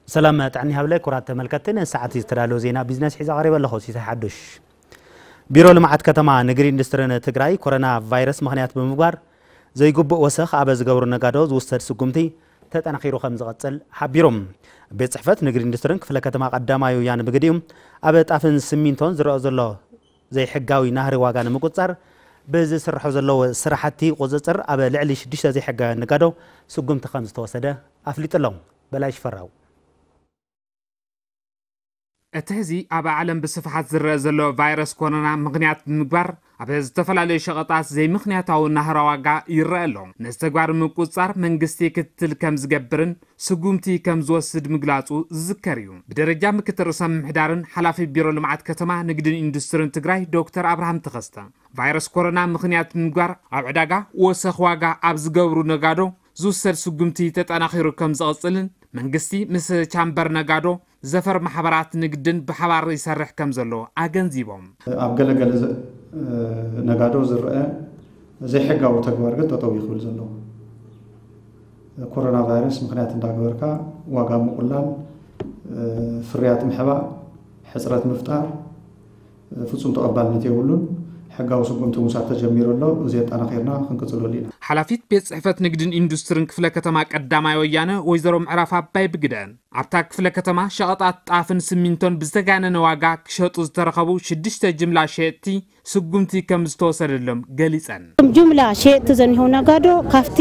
ሰላም ጥዕና ይሃብለ። ክቡራት ተመልከትቲ፣ ንሰዓት ዝተዳለወ ዜና ቢዝነስ ሒዘ ቀሪበ ኣለኹ። ሲሳይ ሓዱሽ። ቢሮ ልምዓት ከተማ፣ ንግዲ ኢንዱስትሪን ትግራይ ኮሮና ቫይረስ ምኽንያት ብምግባር ዘይግቡእ ወሰኽ ኣብ ዝገብሩ ነጋዶ ዝውሰድ ስጉምቲ ተጠናኺሩ ከም ዝቐጽል ሓቢሩ። ቤት ጽሕፈት ንግዲ ኢንዱስትሪን ክፍለ ከተማ ቀዳማይ ወያነ ብግዲኡ፣ ኣብ ጣፍን ሲሚንቶን ዝረአ ዘሎ ዘይሕጋዊ ናህሪ ዋጋ ንምቁጽጻር ብዝስርሑ ዘለዉ ስራሕቲ ቁጽጽር፣ ኣብ ልዕሊ ሽዱሽተ ዘይሕጋውያን ነጋዶ ስጉምቲ ከም ዝተወሰደ ኣፍሊጡ ኣሎ። በላይ ሽፈራው። እቲ ሕዚ ኣብ ዓለም ብስፍሓት ዝረአ ዘሎ ቫይረስ ኮሮና ምኽንያት ብምግባር፣ ኣብ ዝተፈላለዩ ሸቐጣት ዘይምኽንያታዊ ናህራ ዋጋ ይረአ ኣሎ። ነዚ ተግባር ንምቁጽጻር መንግስቲ ክትትል ከም ዝገብርን ስጉምቲ ከም ዝወስድ ምግላጹ ዝዝከር እዩ። ብደረጃ ምክትል ርእሰ ምምሕዳርን ሓላፊ ቢሮ ልምዓት ከተማ፣ ንግድን ኢንዱስትሪን ትግራይ ዶክተር ኣብርሃም ተኸስተ፣ ቫይረስ ኮሮና ምኽንያት ብምግባር ኣብ ዕዳጋ ወሰኽ ዋጋ ኣብ ዝገብሩ ነጋዶ ዝውሰድ ስጉምቲ ተጠናኺሩ ከም ዝቐጽልን መንግስቲ ምስ ቻምበር ነጋዶ፣ ዘፈር ማሕበራት ንግድን ብሓባር ይሰርሕ ከም ዘሎ ኣገንዚቦም። ኣብ ገለገለ ዘ-፣ ነጋዶ ዝረአ ዘይሕጋዊ ተግባር ግን ጠጠው እዩ ክብል ዘለዎ። ኮሮና ቫይረስ ምኽንያት እንዳገበርካ ዋጋ ምቑላል፣ ፍርያት ምሕባእ፣ ሕፅረት ምፍጣር ፍጹም ተቐባልነት የብሉን። ሕጋዊ ስጉምቲ ምውሳድ ተጀሚሩ ኣሎ። እዚ ኣጠናኺርና ክንቅጽለሉ ኢና። ሓላፊት ቤት ጽሕፈት ንግድን ኢንዱስትሪን ክፍለ ከተማ ቀዳማይ ወያነ ወይዘሮ ምዕራፍ ኣባይ ብግደን፣ ኣብታ ክፍለ ከተማ ሸቐጣት ጣፍን ሲሚንቶን ብዝተጋነነ ዋጋ ክሸጡ ዝተረኸቡ ሽዱሽተ ጅምላ ሸየጥቲ ስጉምቲ ከም ዝተወሰደሎም ገሊጸን። ጅምላ ሸየጥቲ ዘኒሆ ነጋዶ ካብቲ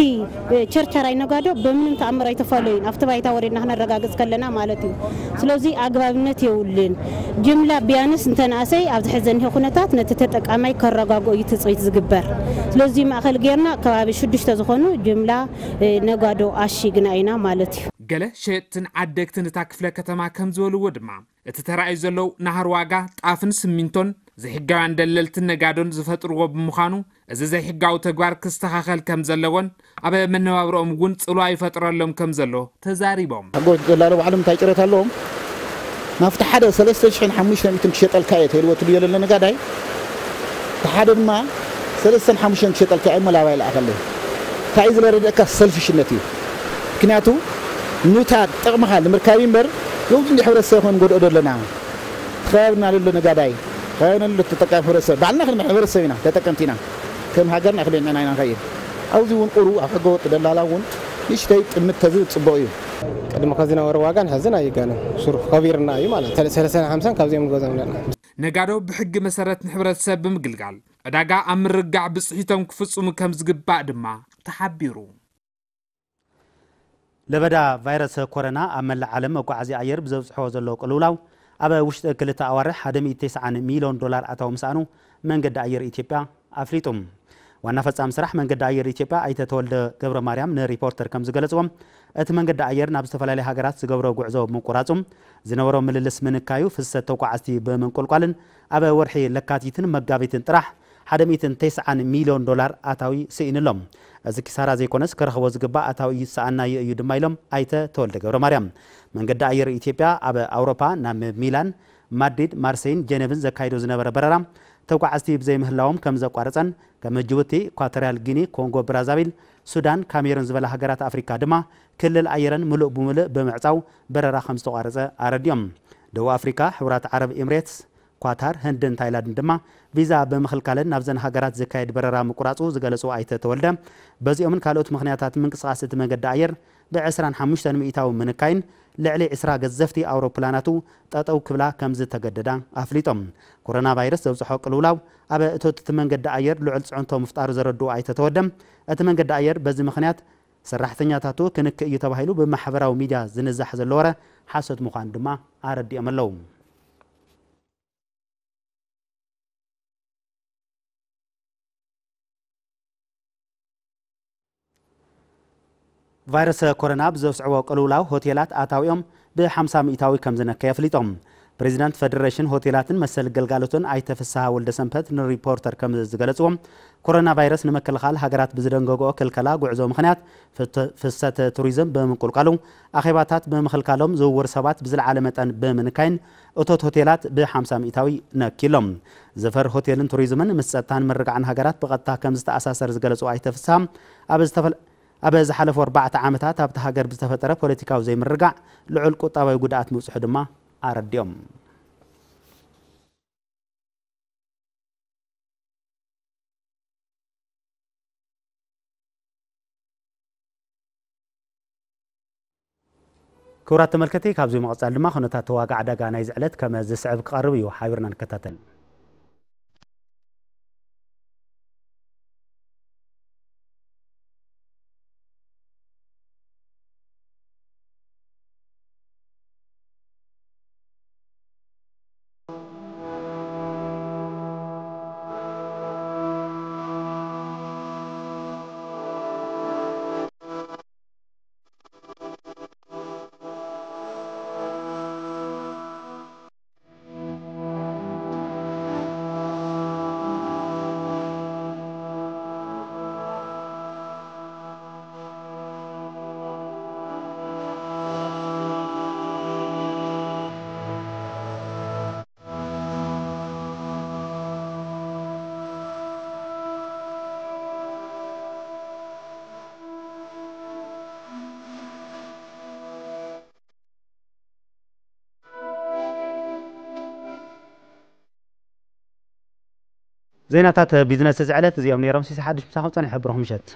ቸርቸራይ ነጋዶ ብምንም ተኣምር ኣይተፈላለዩን፣ ኣብቲ ባይታ ወሪድና ክነረጋግጽ ከለና ማለት እዩ። ስለዚ ኣግባብነት የብሉን። ጅምላ ቢያንስ እንተንኣሰይ ኣብዚ ሕዚ ዘኒሆ ኩነታት ነቲ ተጠቃማይ ከረጋግኦ እዩ ትጽቢት ዝግበር። ስለዚ ማእኸል ጌርና ከባቢ ሽዱሽተ ዝኾኑ ጅምላ ነጋዶ ኣሺግና ኢና ማለት እዩ። ገለ ሸየጥትን ዓደግትን እታ ክፍለ ከተማ ከም ዝበልዎ ድማ፣ እቲ ተራእዩ ዘሎ ናህሪ ዋጋ ጣፍን ሲሚንቶን ዘይሕጋውያን ደለልትን ነጋዶን ዝፈጥርዎ ብምዃኑ፣ እዚ ዘይሕጋዊ ተግባር ክስተኻኸል ከም ዘለዎን ኣብ መነባብሮኦም እውን ጽልዋ ይፈጥረሎም ከም ዘሎ ተዛሪቦም። ኣጎት ደላሎ ባዕሎም እንታይ ጭረት ኣለዎም? ናብቲ ሓደ ሰለስተ ሽሕን ሓሙሽተ ሚእትን ክሸጠልካ እየ ተልዎ ትልዮ ለለ ነጋዳይ፣ እቲ ሓደ ድማ ሰለስተን ሓሙሽተን ክሸጠልካ እየ እሞ ላባይ ለኣኸለይ። እንታይ እዩ ዝለረደእካ? ሰልፊሽነት እዩ። ምክንያቱ ኑታ ጥቕምኻ ንምርካብ እምበር፣ ነዚ እንዲ ሕብረተሰብ ክንጎድኦ ዘለና። እቲ ከባቢና ለሎ ነጋዳይ፣ ከባቢና ለሎ ተጠቃሚ ሕብረተሰብ፣ ባዕልና ክንመ-፣ ሕብረተሰብ ኢና፣ ተጠቀምቲ ኢና። ከም ሃገርና ክልዕና ኢና ንኸይድ። ኣብዚ እውን ቁሩ ኣብ ሕገ ወጥ ደላላ እውን ንእሽተይ ጥምት ተዝብል ጽቡቕ እዩ። ቅድሚ ከዚ ዝነበረ ዋጋን ሕዝን ኣይጋነን። ሱሩ ከቢርና እዩ ማለት። ሰለ-፣ ሰለስተን ሓምሳን ካብዚኦም ንገዝኦም ኣለና። ነጋዶ ብሕጊ መሰረት ንሕብረተሰብ ብምግልጋል፣ ዕዳጋ ኣብ ምርግጋዕ ብጽሒቶም ክፍጽሙ ከም ዝግባእ ድማ ተሓቢሩ። ለበዳ ቫይረስ ኮሮና ኣብ መላእ ዓለም መጓዓዝያ ኣየር ብዘብጽሖ ዘሎ ቅልውላው፣ ኣብ ውሽጢ ክልተ ኣዋርሕ ሓደ ሚእቲ ተስዓን ሚልዮን ዶላር ኣታዊ ምስኣኑ መንገዲ ኣየር ኢትዮጵያ ኣፍሊጡ። ዋና ፈጻሚ ስራሕ መንገዲ ኣየር ኢትዮጵያ ኣይተ ተወልደ ገብረ ማርያም ንሪፖርተር ከም ዝገለጽዎ፣ እቲ መንገዲ ኣየር ናብ ዝተፈላለያ ሃገራት ዝገብሮ ጉዕዞ ምቁራጹ፣ ዝነበሮ ምልልስ ምንካዩ፣ ፍሰት ተጓዓዝቲ ብምንቁልቋልን ኣብ ወርሒ ለካቲትን መጋቢትን ጥራሕ ሓደ ሚእትን ተስዓን ሚልዮን ዶላር ኣታዊ ስኢኑ ኣሎ። እዚ ኪሳራ ዘይኮነስ፣ ክረኽቦ ዝግባእ ኣታዊ እዩ ዝሰኣናዮ እዩ ድማ ኢሎም ኣይተ ተወልደ ገብረ ማርያም። መንገዲ ኣየር ኢትዮጵያ ኣብ ኣውሮፓ ናብ ሚላን፣ ማድሪድ፣ ማርሴይን ጀኔቭን ዘካይዶ ዝነበረ በረራ ተጓዓዝቲ ብዘይምህላዎም ከም ዘቋረጸን፣ ከም ጅቡቲ፣ ኢኳቶሪያል ጊኒ፣ ኮንጎ ብራዛቪል፣ ሱዳን፣ ካሜሩን ዝበላ ሃገራት ኣፍሪካ ድማ ክልል ኣየረን ምሉእ ብምሉእ ብምዕጻው በረራ ከም ዝተቋረጸ ኣረዲኦም። ደቡብ ኣፍሪካ፣ ሕቡራት ዓረብ ኤምሬትስ፣ ኳታር፣ ህንድን ታይላንድን ድማ ቪዛ ብምኽልካለን ናብዘን ሃገራት ዝካየድ በረራ ምቁራጹ ዝገለጹ ኣይተ ተወልደ፣ በዚኦምን ካልኦት ምኽንያታት ምንቅስቓስ እቲ መንገዲ ኣየር ብ ዕስራን ሓሙሽተን ሚእታዊ ምንካይን ልዕሊ ዕስራ ገዘፍቲ ኣውሮፕላናቱ ጠጠው ክብላ ከም ዝተገደዳ ኣፍሊጦም። ኮሮና ቫይረስ ዘብጽሖ ቅልውላው ኣብ እቶት እቲ መንገዲ ኣየር ልዑል ጽዕንቶ ምፍጣሩ ዘረድኡ ኣይተ ተወልደ፣ እቲ መንገዲ ኣየር በዚ ምኽንያት ሰራሕተኛታቱ ክንክእ እዩ ተባሂሉ ብማሕበራዊ ሚድያ ዝንዛሕ ዘሎ ወረ ሓሶት ምዃኑ ድማ ኣረዲኦም ኣለዉ። ቫይረስ ኮሮና ብዘስዕቦ ቅልውላው ሆቴላት ኣታዊኦም ብሓምሳ ሚእታዊ ከም ዝነከየ ኣፍሊጦም። ፕሬዚዳንት ፈደሬሽን ሆቴላትን መሰል ግልጋሎትን ኣይተ ፍስሃ ወልደ ሰንበት ንሪፖርተር ከም ዝገለፅዎ፣ ኮሮና ቫይረስ ንምክልኻል ሃገራት ብዝደንገግኦ ክልከላ ጉዕዞ ምኽንያት ፍተ-፣ ፍሰት ቱሪዝም ብምንቁልቋሉ፣ ኣኼባታት ብምኽልካሎም፣ ዝውውር ሰባት ብዝለዓለ መጠን ብምንካይን እቶት ሆቴላት ብሓምሳ ሚእታዊ ነኪሎም። ዘፈር ሆቴልን ቱሪዝምን ምስ ጸጥታን ምርግጋዕን ሃገራት ብቐጥታ ከም ዝተኣሳሰር ዝገለጹ ኣይተ ፍስሃ፣ ኣብ ዝተፈለ-፣ ኣብ ዝሓለፉ ኣርባዕተ ዓመታት ኣብቲ ሃገር ብዝተፈጠረ ፖለቲካዊ ዘይምርግጋእ ልዑል ቁጠባዊ ጉድኣት ምብፅሑ ድማ ኣረዲኦም። ክቡራት ተመልከቲ፣ ካብዚ መቐጻል ድማ ኩነታት ዋጋ ዕዳጋ ናይዚ ዕለት ከም ዝስዕብ ክቐርብ እዩ። ሓቢርና ንከታተል። ዜናታት ቢዝነስ እዚ ዕለት እዚኦም ነይሮም። ሲሳይ ሓድሽ ምሳኹም ጸኒሐ። ብሩኽ ምሸት።